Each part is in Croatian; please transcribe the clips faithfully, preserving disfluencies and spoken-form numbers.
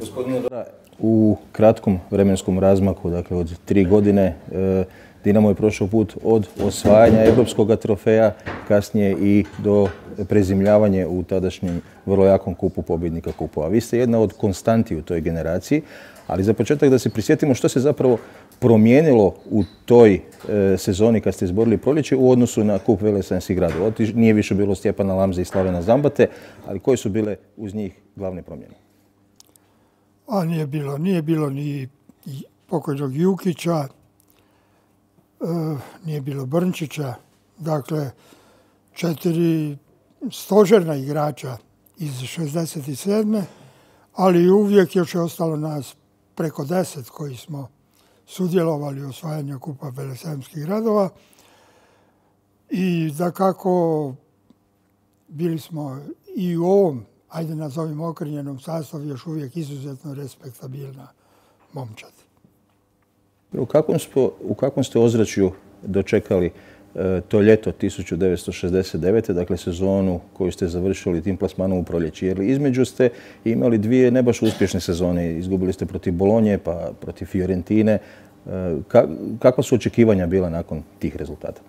Gospodine Dora, u kratkom vremenskom razmaku, dakle od tri godine, Dinamo je prošao put od osvajanja europskog trofeja, kasnije i do prezimljavanja u tadašnjem vrlo jakom kupu pobjednika kupova. Vi ste jedna od konstanti u toj generaciji, ali za početak da se prisjetimo što se zapravo promijenilo u toj sezoni kad ste izborili proljeće u odnosu na kup veleslavenskih gradova. Nije više bilo Stjepana Lamze i Slavena Zambate, ali koje su bile uz njih glavne promjene? A nije bilo, nije bilo ni pokojnog Jukića, nije bilo Brnčića, dakle četiri stožerna igrača iz šezdeset sedme ali uvijek još je ostalo nas preko deset koji smo sudjelovali u osvajanju kupa veleslavenskih gradova i dakako bili smo i u ovom, ajde nazovimo okrnjenom sastavu, još uvijek izuzetno respektabilna momčad. U kakvom, spo, u kakvom ste ozračju dočekali e, to ljeto tisuću devetsto šezdeset devete. dakle sezonu koju ste završili tim plasmanom u proljeći? Jer između ste imali dvije ne baš uspješne sezone. Izgubili ste protiv Bolonje pa protiv Fiorentine. E, ka, kakva su očekivanja bila nakon tih rezultata?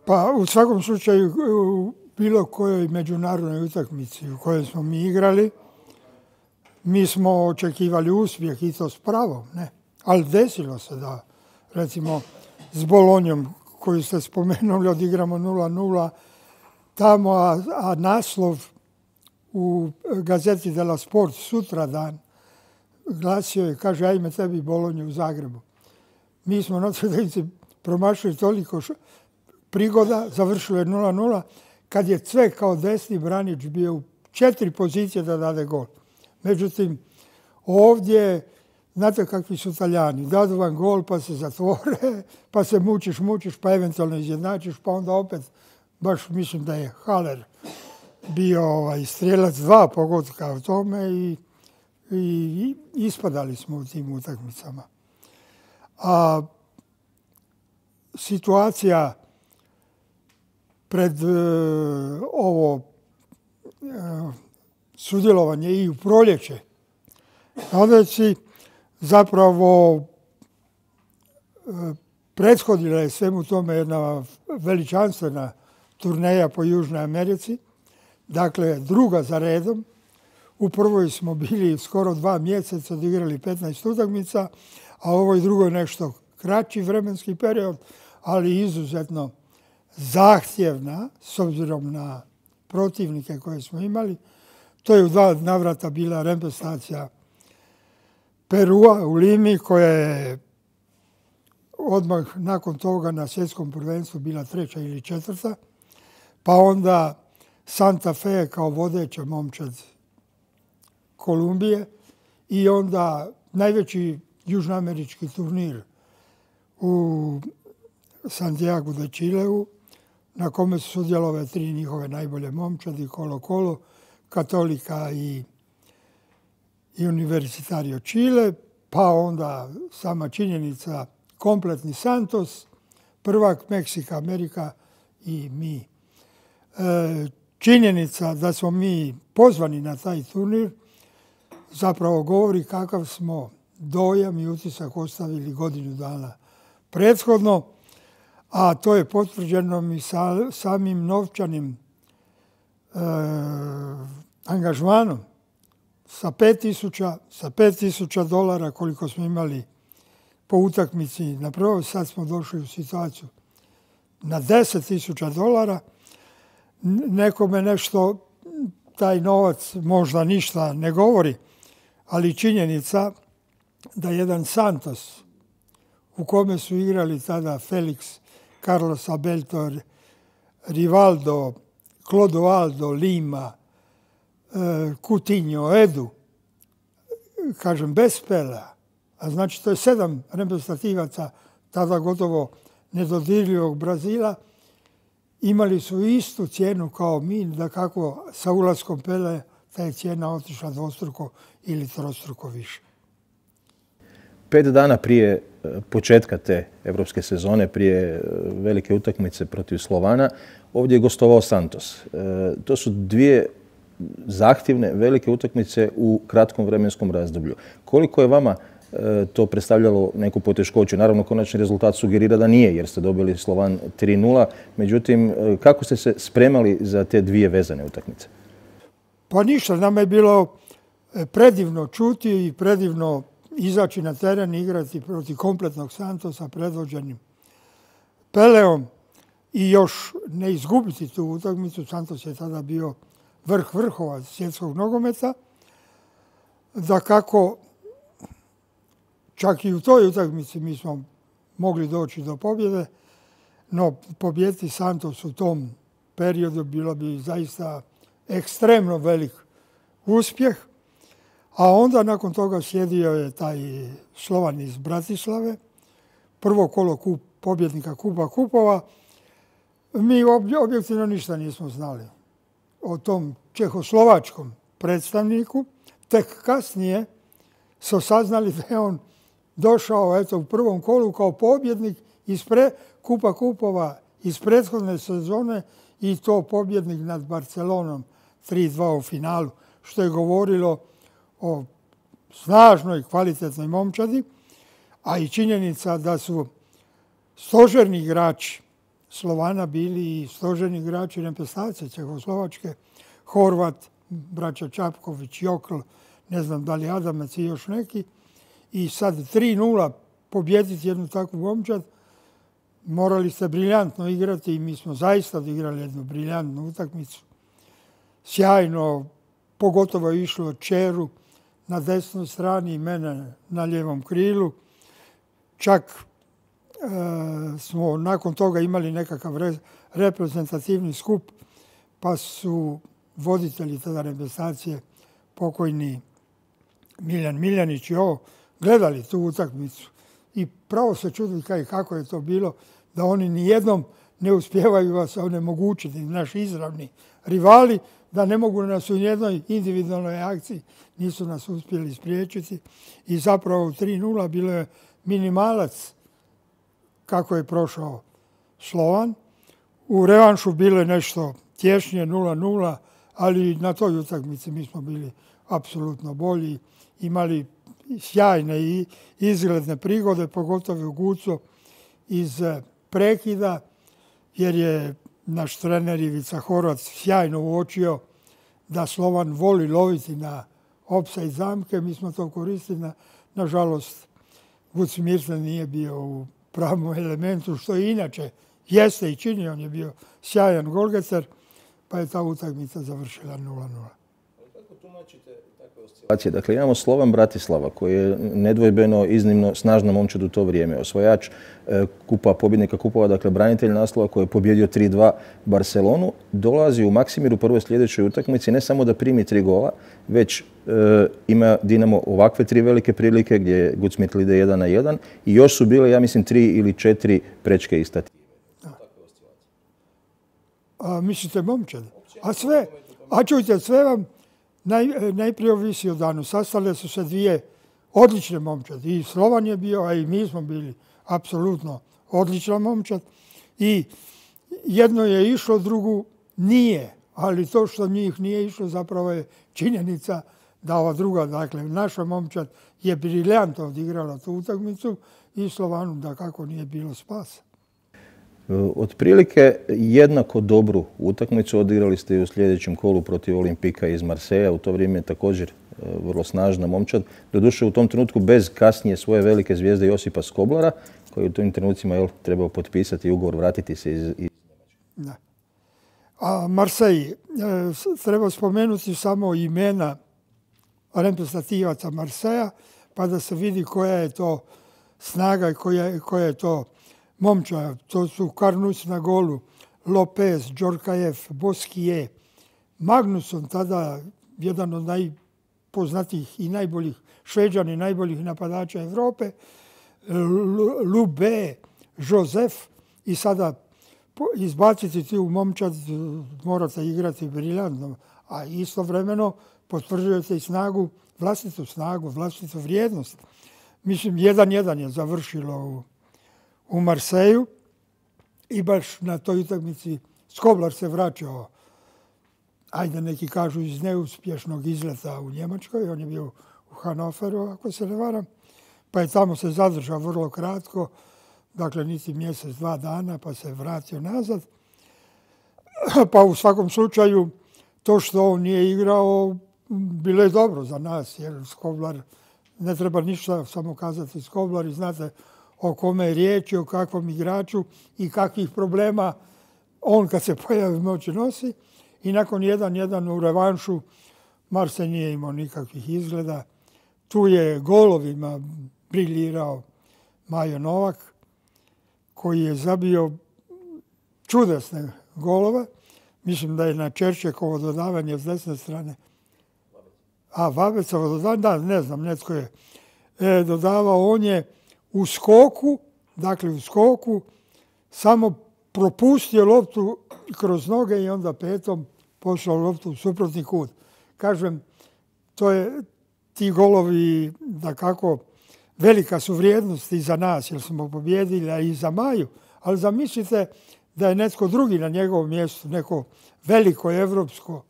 Pa u svakom slučaju u bilo kojoj međunarodnoj utakmici u kojoj smo mi igrali, mi smo očekivali uspjeh i to s pravom, ne? Ali desilo se da, recimo, s Bolonjom, koju ste spomenuli, odigramo nula nula tamo, a, a naslov u gazeti Della Sport sutradan glasio je, kaže, ajme tebi Bolonju u Zagrebu. Mi smo na sredinici promašili toliko š... prigoda, završilo je nula nula, kad je Cvek kao desni branič bio u četiri pozicije da dade gol. Međutim, ovdje, znate kakvi su Talijani, dadu vam gol pa se zatvore, pa se mučiš, mučiš, pa eventualno izjednačiš, pa onda opet, baš mislim da je Haller bio ovaj, strijelac dva pogotka u tome i, i, i ispadali smo u tim utakmicama. A situacija pred uh, ovo uh, sudjelovanje i u proljeće onda si zapravo uh, prethodila je svemu tome jedna veličanstvena turneja po Južnoj Americi, dakle druga za redom. U prvoj smo bili skoro dva mjeseca, odigrali petnaest utakmica, a u ovoj drugoj nešto kraći vremenski period, ali izuzetno zahtjevna s obzirom na protivnike koje smo imali. To je u dva navrata bila reprezentacija Perua u Limi, koja je odmah nakon toga na svjetskom prvenstvu bila treća ili četvrta, pa onda Santa Fe kao vodeća momčad Kolumbije i onda najveći južnoamerički turnir u Santiago de Chileu, na kome su sudjelovale tri njihove najbolje momčadi, Colo Colo, Katolika i, i Universitario Chile, pa onda sama činjenica kompletni Santos, prvak Meksika, Amerika i mi. E, činjenica da smo mi pozvani na taj turnir zapravo govori kakav smo dojam i utisak ostavili godinu dana prethodno, a to je potvrđeno i sa, samim novčanim e, angažmanom sa pet tisuća, sa pet tisuća dolara koliko smo imali po utakmici. Na prvo sad smo došli u situaciju na deset tisuća dolara. Nekome nešto, taj novac možda ništa ne govori, ali činjenica da jedan Santos u kome su igrali tada Felix, Carlos Abelto, Rivaldo, Clodoaldo, Lima, Coutinho, Edu, kažem bez Pelea, a znači to je sedam reprezentativaca tada gotovo nedodirljivog Brazila, imali su istu cijenu kao mi, da kako sa ulaskom Pelea ta je cijena otišla dvostruko ili trostruko više. Pet dana prije početka te evropske sezone, prije velike utakmice protiv Slovana, ovdje je gostovao Santos. E, to su dvije zahtjevne, velike utakmice u kratkom vremenskom razdoblju. Koliko je vama to predstavljalo neku poteškoću? Naravno, konačni rezultat sugerira da nije, jer ste dobili Slovan tri nula. Međutim, kako ste se spremali za te dvije vezane utakmice? Pa ništa, nama je bilo predivno čuti i predivno izaći na teren i igrati protiv kompletnog Santosa predvođenim Peleom i još ne izgubiti tu utakmicu. Santos je tada bio vrh vrhova svjetskog nogometa. Dakako, čak i u toj utakmici mi smo mogli doći do pobjede, no pobijediti Santos u tom periodu bilo bi zaista ekstremno velik uspjeh. A onda nakon toga slijedio je taj Slovan iz Bratislave, prvo kolo kup, pobjednika Kupa kupova. Mi objektivno ništa nismo znali o tom čehoslovačkom predstavniku. Tek kasnije su saznali da je on došao eto, u prvom kolu kao pobjednik iz pre, Kupa kupova iz prethodne sezone i to pobjednik nad Barcelonom tri dva u finalu, što je govorilo o snažnoj, kvalitetnoj momčadi, a i činjenica da su stožerni igrači Slovana bili i stožerni igrači reprezentacije Čehoslovačke, Horvat, braća Čapković, Jokl, ne znam da li Adamac i još neki, i sad tri nula pobijediti jednu takvu momčad, morali ste briljantno igrati i mi smo zaista odigrali jednu briljantnu utakmicu. Sjajno, pogotovo je išlo Čeru na desnoj strani i mene na lijevom krilu. Čak e, smo nakon toga imali nekakav re, reprezentativni skup, pa su voditelji tada reprezentacije, pokojni Miljan Miljanić i ovo, gledali tu utakmicu. I pravo se čudili kaj, kako je to bilo, da oni nijednom ne uspijevaju vas onemogućiti, naši izravni rivali, da ne mogu nas u jednoj individualnoj akciji, nisu nas uspjeli spriječiti. I zapravo u tri nula bilo je minimalac kako je prošao Slovan. U revanšu bilo je nešto tješnje, nula nula, ali na toj utakmici mi smo bili apsolutno bolji, imali sjajne i izgledne prigode, pogotovo u Guco iz prekida, jer je naš trener Ivica Horvat sjajno uočio da Slovan voli loviti na opside zamke. Mi smo to koristili. Na, nažalost, Vuc Mirsen nije bio u pravom elementu, što i inače jeste i čini. On je bio sjajan golgeter, pa je ta utakmica završila nula nula. Kako tumačite takve oscilacije? Dakle, imamo Slovan Bratislava koji je nedvojbeno iznimno snažna momčad u to vrijeme. Osvajač e, kupa, pobjednika kupova, dakle branitelj naslova koji je pobjedio tri dva Barcelonu, dolazi u Maksimiru prvoj sljedećoj utakmici ne samo da primi tri gola, već e, ima Dinamo ovakve tri velike prilike gdje je Gucmitl ide jedan na jedan i još su bile, ja mislim, tri ili četiri prečke i stative. A, mislite momčad? A sve, a čujte, sve vam naj, najprije ovisi o danu. Sastale su se dvije odlične momčad. I Slovan je bio, a i mi smo bili apsolutno odlična momčad. I jedno je išlo, drugu nije. Ali to što njih nije išlo zapravo je činjenica da ova druga, dakle naša momčad je briljantno odigrala tu utakmicu i Slovanu da kako nije bilo spasa. Otprilike jednako dobru utakmicu odigrali ste i u sljedećem kolu protiv Olimpika iz Marseja. U to vrijeme je također vrlo snažna momčad. Doduše u tom trenutku bez kasnije svoje velike zvijezde Josipa Skoblara, koji u tim trenucima je trebao potpisati ugovor, vratiti se iz, iz... Da. A Marsej, treba spomenuti samo imena reprezentativaca Marseja, pa da se vidi koja je to snaga i koja, koja je to momča. To su Karnus na golu, Lopez, Džorkajev, Boskije, Magnusson, tada jedan od najpoznatijih i najboljih Šveđana i najboljih napadača Europe, Lube, Josef, i sada izbaciti ti u momčad morate igrati briljantno, a istovremeno potvrđujete i snagu, vlastitu snagu, vlastitu vrijednost. Mislim, jedan jedan je završilo u, u Marseju i baš na toj utakmici Skoblar se vraćao ajde neki kažu iz neuspješnog izleta u Njemačkoj. On je bio u Hanoveru, ako se ne varam. Pa je tamo se zadržao vrlo kratko, dakle niti mjesec, dva dana, pa se vratio nazad. Pa u svakom slučaju, to što on nije igrao, bilo je dobro za nas, jer Skoblar, ne treba ništa samo kazati Skoblar i znate o kome je riječ, o kakvom igraču i kakvih problema on kad se pojavi u noći nosi. I nakon jedan jedan u revanšu Marse nije imao nikakvih izgleda. Tu je golovima briljirao Majo Novak, koji je zabio čudesne golove. Mislim da je na Čerčekovo dodavanje s desne strane. A Vabecovo dodavanje, da, ne znam, netko je e, dodavao. On je u skoku, dakle u skoku, samo propustio loptu kroz noge i onda petom poslao loptu u suprotni kut. Kažem, to je, ti golovi, da kako, velika su vrijednost i za nas, jer smo pobjedili, a i za Maju. Ali zamislite da je netko drugi na njegovom mjestu, neko veliko evropsko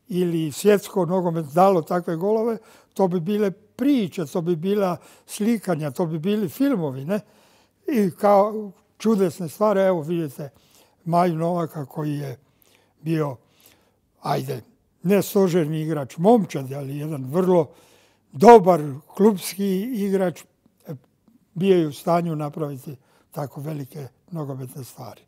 ili svjetsko nogomet dalo takve golove, to bi bile priče, to bi bila slikanja, to bi bili filmovi, ne? I kao čudesne stvari, evo vidite Maju Novaka koji je bio, ajde, ne stožerni igrač momčad, ali jedan vrlo dobar klubski igrač, bio je u stanju napraviti tako velike nogometne stvari.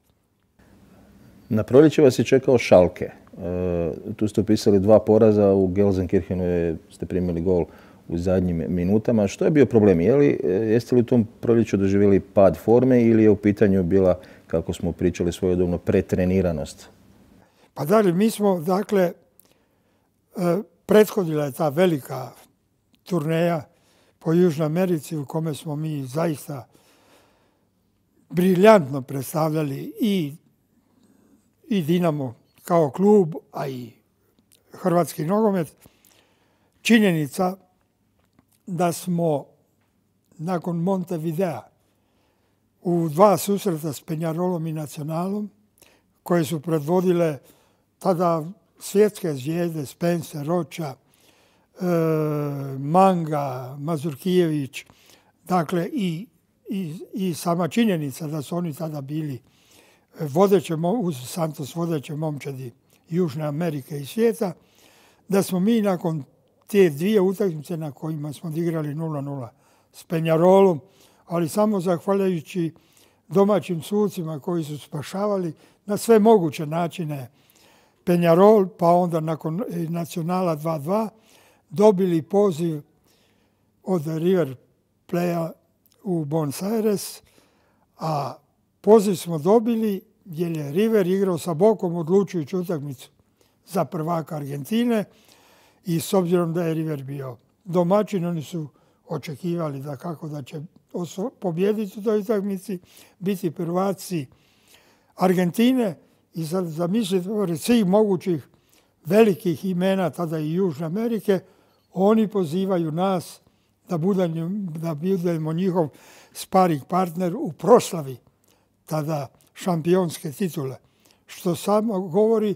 Na proljeće vas je čekao Schalke. E, tu ste upisali dva poraza, u Gelsenkirchenu je, ste primili gol u zadnjim minutama. Što je bio problem? Je li, jeste li u tom proljeću doživjeli pad forme ili je u pitanju bila, kako smo pričali svojedobno, pretreniranost? Pa da li, mi smo, dakle, prethodila je ta velika turneja po Južnoj Americi u kome smo mi zaista briljantno predstavljali i, i Dinamo kao klub, a i hrvatski nogomet. Činjenica da smo nakon Montevidea u dva susreta s Penjarolom i Nacionalom, koje su predvodile tada svjetske zvijezde, Spencer, Roča, e, Manga, Mazurkijević, dakle i, i, i sama činjenica da su oni tada bili vodeće, uz Santos vodeće momčadi Južne Amerike i svijeta, da smo mi nakon te dvije utakmice na kojima smo igrali nula nula s Penjarolom, ali samo zahvaljujući domaćim sucima koji su spašavali na sve moguće načine Penjarol, pa onda nakon Nacionala dva dva dobili poziv od River Playa u Buenos Aires, a poziv smo dobili jer je River igrao sa Bokom odlučujuću utakmicu za prvaka Argentine i s obzirom da je River bio domaćin, oni su očekivali da kako da će pobijediti u toj utakmici, biti prvaci Argentine i sad zamislite pored svih mogućih velikih imena tada i Južne Amerike, oni pozivaju nas da budemo, da budemo njihov sparing partner u proslavi tada šampionske titule. Što samo govori,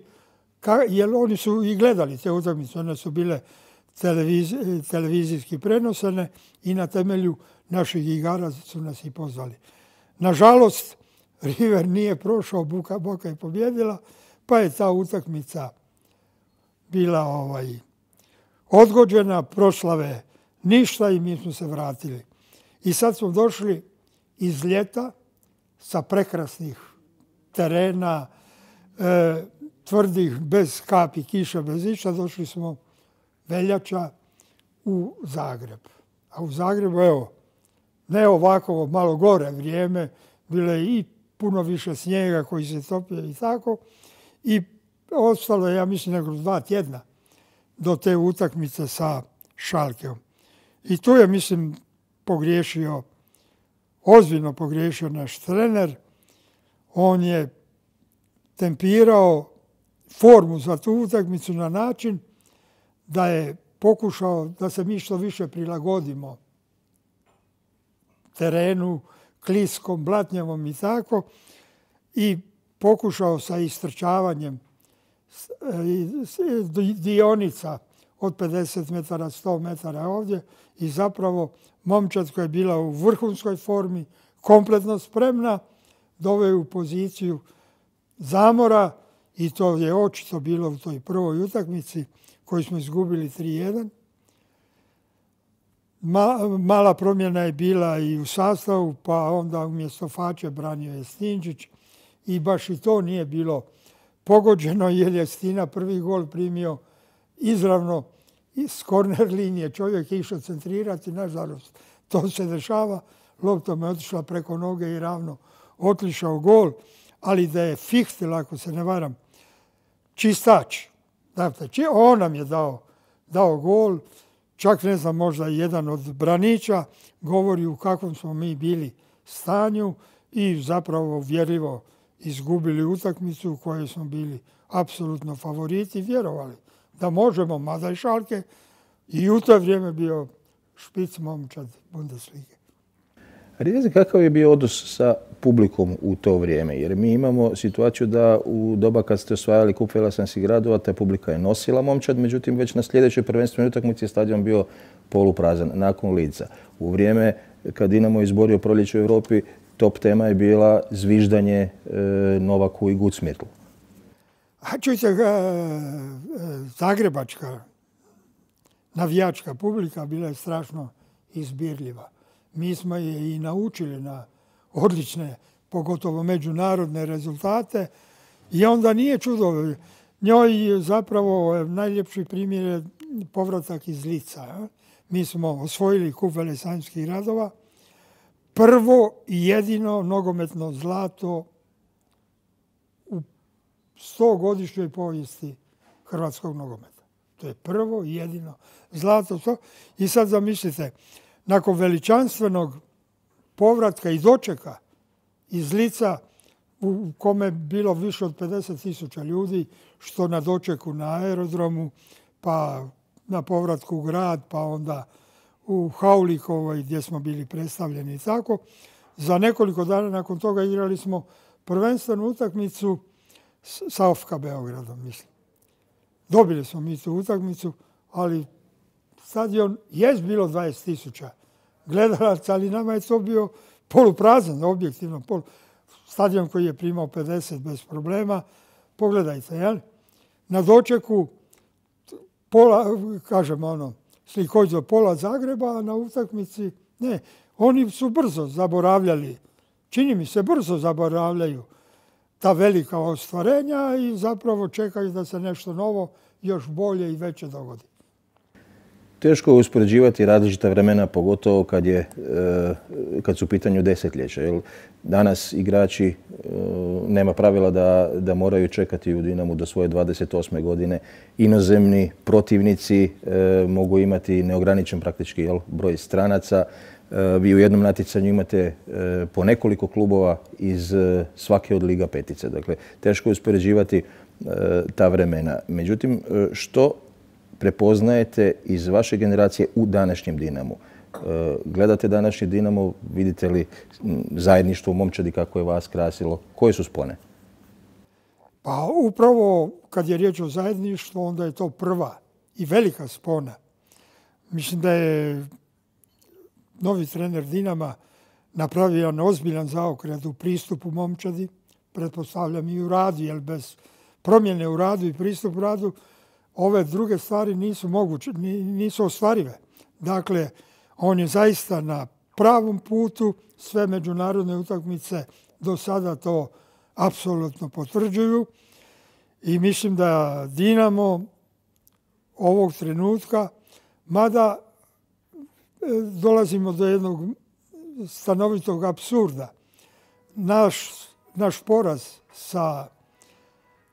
jer oni su i gledali te utakmice, one su bile televiz, televizijski prenosene i na temelju naših igara su nas i pozvali. Nažalost, River nije prošao, Boka, Boka je pobjedila, pa je ta utakmica bila ovaj, odgođena, proslave ništa i mi smo se vratili. I sad smo došli iz ljeta sa prekrasnih terena, e, tvrdih, bez kapi kiša, bez ništa, došli smo veljača u Zagreb. A u Zagrebu, evo, ne ovako malo gore vrijeme, bilo je i puno više snijega koji se topio i tako. I ostalo je, ja mislim, nego dva tjedna do te utakmice sa Schalkeom. I tu je, mislim, pogriješio, ozbiljno pogriješio naš trener. On je tempirao formu za tu utakmicu na način da je pokušao da se mi što više prilagodimo terenu, kliskom, blatnjavom i tako, i pokušao sa istrčavanjem dionica od pedeset metara, sto metara ovdje i zapravo momčad koja je bila u vrhunskoj formi, kompletno spremna, doveo u poziciju zamora i to je očito bilo u toj prvoj utakmici koju smo izgubili tri jedan. Mala promjena je bila i u sastavu, pa onda umjesto Fače branio je Stinčić i baš i to nije bilo pogođeno jer je Stina prvi gol primio izravno iz korner linije. Čovjek je išao centrirati, nažalost to se dešava. Loptom je otišla preko noge i ravno otišao gol, ali da je Fichtel, ako se ne varam, čistač. Dakle, on nam je dao, dao gol. Čak ne znam, možda jedan od braniča govori u kakvom smo mi bili stanju i zapravo uvjerljivo izgubili utakmicu u kojoj smo bili apsolutno favoriti i vjerovali da možemo, mada i Schalke i u to vrijeme bio špic momčad Bundeslige. A kakav je bio odnos sa publikom u to vrijeme? Jer mi imamo situaciju da u doba kad ste osvajali kup velesanskih gradova, ta publika je nosila momčad, međutim već na sljedećoj prvenstvenoj utakmici je stadion bio poluprazan nakon Lidza. U vrijeme kad Dinamo izborio proljeće u Europi, top tema je bila zviždanje e, Novaku i Gudsmitlu. A čujte, zagrebačka navijačka publika bila je strašno izbirljiva. Mi smo je i naučili na odlične, pogotovo međunarodne rezultate i onda nije čudo. Njoj zapravo najljepši primjer je povratak iz Lica. Mi smo osvojili kup velesanskih gradova. Prvo i jedino nogometno zlato u stogodišnjoj povijesti hrvatskog nogometa. To je prvo i jedino zlato. I sad zamislite, nakon veličanstvenog povratka i dočeka iz Lica u kome je bilo više od pedeset tisuća ljudi, što na dočeku na aerodromu, pa na povratku u grad, pa onda u Haulikovoj gdje smo bili predstavljeni i tako. Za nekoliko dana nakon toga igrali smo prvenstvenu utakmicu sa O F K Beogradom, mislim. Dobili smo mi tu utakmicu, ali stadion je bilo dvadeset tisuća gledalaca, ali nama je to bio poluprazan, objektivno. Polu... Stadion koji je primao pedeset bez problema. Pogledajte, jel? Na dočeku pola, kažem ono, slikovito pola Zagreba, a na utakmici ne. Oni su brzo zaboravljali, čini mi se brzo zaboravljaju ta velika ostvarenja i zapravo čekaju da se nešto novo, još bolje i veće dogodi. Teško je uspoređivati različita vremena, pogotovo kad, je, kad su u pitanju desetljeća. Jer danas igrači nema pravila da, da moraju čekati u Dinamu do svoje dvadeset osme godine. Inozemni protivnici mogu imati neograničen praktički jel, broj stranaca. Vi u jednom natjecanju imate po nekoliko klubova iz svake od Liga petice. Dakle, teško je uspoređivati ta vremena. Međutim, što prepoznajete iz vaše generacije u današnjem Dinamu? Gledate današnji Dinamo, vidite li zajedništvo u momčadi kako je vas krasilo? Koje su spone? Pa upravo kad je riječ o zajedništvu, onda je to prva i velika spona. Mislim da je novi trener Dinama napravio jedan ozbiljan zaokret u pristupu momčadi, pretpostavljam i u radu, jer bez promjene u radu i pristup radu ove druge stvari nisu moguće, nisu ostvarive. Dakle, on je zaista na pravom putu, sve međunarodne utakmice do sada to apsolutno potvrđuju i mislim da Dinamo ovog trenutka, mada dolazimo do jednog stanovitog apsurda. Naš, naš poraz sa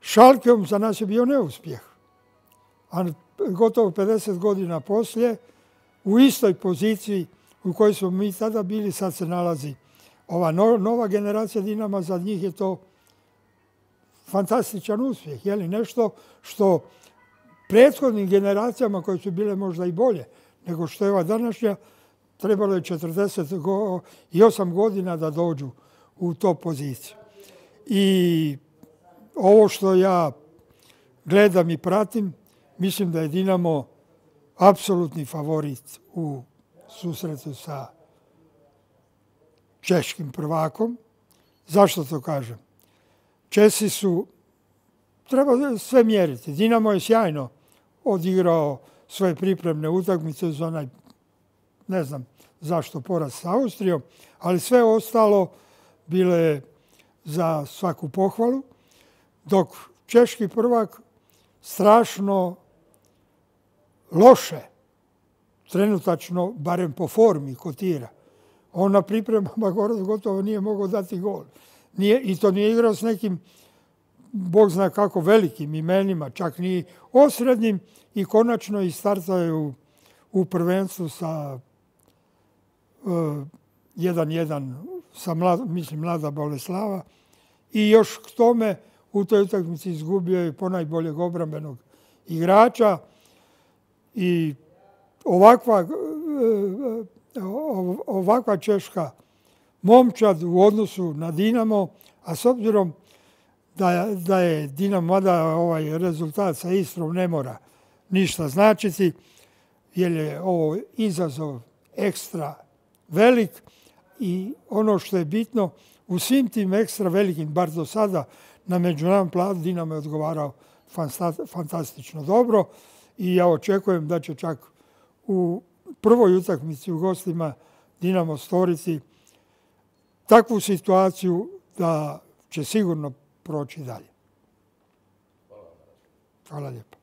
Schalkeom za nas je bio neuspjeh. A gotovo pedeset godina poslije, u istoj poziciji u kojoj smo mi tada bili, sad se nalazi ova nova generacija Dinama, za njih je to fantastičan uspjeh. Je li nešto što prethodnim generacijama koje su bile možda i bolje nego što je ova današnja, trebalo je četrdeset osam godina da dođu u to poziciju. I ovo što ja gledam i pratim, mislim da je Dinamo apsolutni favorit u susretu sa češkim prvakom. Zašto to kažem? Česi su, treba sve mjeriti. Dinamo je sjajno odigrao svoje pripremne utakmice za onaj, ne znam zašto, poraz s Austrijom, ali sve ostalo bilo je za svaku pohvalu, dok češki prvak strašno loše, trenutačno, barem po formi, kotira. On na pripremama gotovo nije mogao dati gol. Nije, I to nije igrao s nekim, Bog zna kako, velikim imenima, čak ni osrednjim, i konačno i startao je u, u prvenstvu sa jedan jedan sa mlad, mislim, Mlada Boleslava, i još k tome u toj utakmici izgubio je ponajboljeg obrambenog igrača i ovakva, ovakva češka momčad u odnosu na Dinamo, a s obzirom da, da je Dinamo, mada ovaj rezultat sa Istrom ne mora ništa značiti, jer je ovo izazov ekstra velik i ono što je bitno, u svim tim ekstra velikim, bar do sada, na međunarodnom planu Dinamo je odgovarao fantastično dobro i ja očekujem da će čak u prvoj utakmici u gostima Dinamo stvoriti takvu situaciju da će sigurno proći dalje. Hvala lijepo.